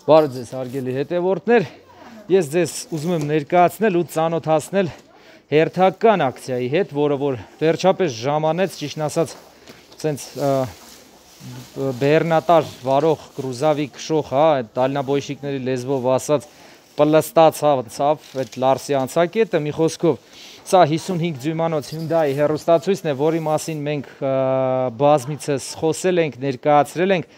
Բարև ձեզ հարգելի հետևորդներ, ես ձեզ ուզում եմ ներկայացնել ու ծանոթացնել հերթական ակցիայի հետ, որը որ վերջապես ժամանեց, ճիշտն ասած, սենց բեռնատար վարող գրուզավիկ քշող, այդ դալնաբոյշիկների լեզվով ասած պլստացավ այդ Լարսի անցակետը, մի խոսքով, սա 55 դյույմանոց Hyundai հեռուստացույցն է, որի մասին մենք բազմիցս խոսել ենք, ներկայացրել ենք.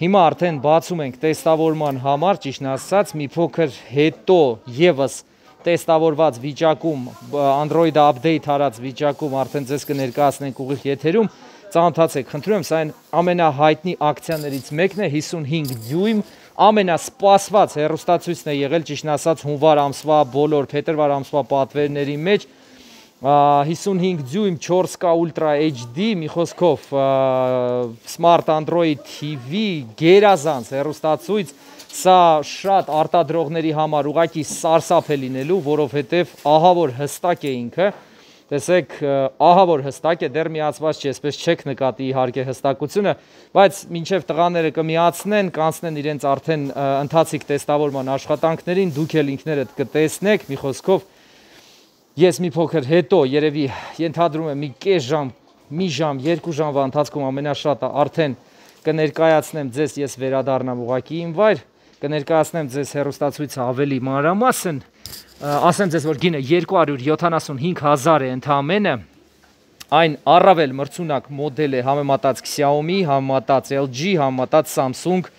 Հիմա արդեն բացում ենք տեստավորման համար, ճիշտն ասած, մի փոքր հետո եւս տեստավորված վիճակում, Android-ը update արած վիճակում արդեն ձեզ կներկայացնենք ուղիղ եթերում, ծանոթացեք, խնդրում եմ, սա այն ամենահայտնի ակցիաներից մեկն է, 55 դյույմ, ամենասպասված հեռուստացույցն է եղել, ճիշտն ասած, հունվար ամսվա բոլոր փետրվար ամսվա պատվերների մեջ, 55 դյույմ 4K Ultra HD, մի խոսքով Smart Android TV, գերազանց հեռուստացույց, սա շատ արտադրողների համար ուղղակի սարսափ է լինելու, որովհետև ահա որ հստակ է ինքը, տեսեք, ահա որ հստակ է, դեռ միացված չի, այսպես չեք նկատի իհարկե հստակությունը, բայց մինչև տղաները կմիացնեն, կանցնեն իրենց արդեն ընթացիկ տեստավորման աշխատանքներին, դուք էլ ինքներդ կտեսնեք, մի խոսքով ես մի փոքր հետո երևի ենթադրում եմ մի կես ժամ, մի ժամ, 2 ժամվա ընթացքում ամենաշատը արդեն կներկայացնեմ ձեզ, ես վերադառնամ ուղղակի իմ վայր, կներկայացնեմ ձեզ հեռուստացույցը ավելի մանրամասն, ասեմ ձեզ, որ գինը 275,000 է ընդամենը, այն առավել մրցունակ մոդել է համեմատած Xiaomi, համեմատած LG, համեմատած Samsung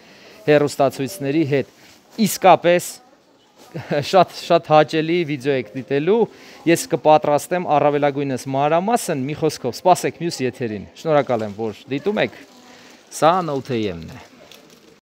հեռուստացույցների հետ, իսկապես շատ հաճելի վիդեո եք դիտելու, ես կպատրաստեմ առավելագույնս մանրամասն, մի խոսքով, սպասեք մյուս եթերին, շնորհակալ եմ, որ դիտում եք, սա Note AM-ն է։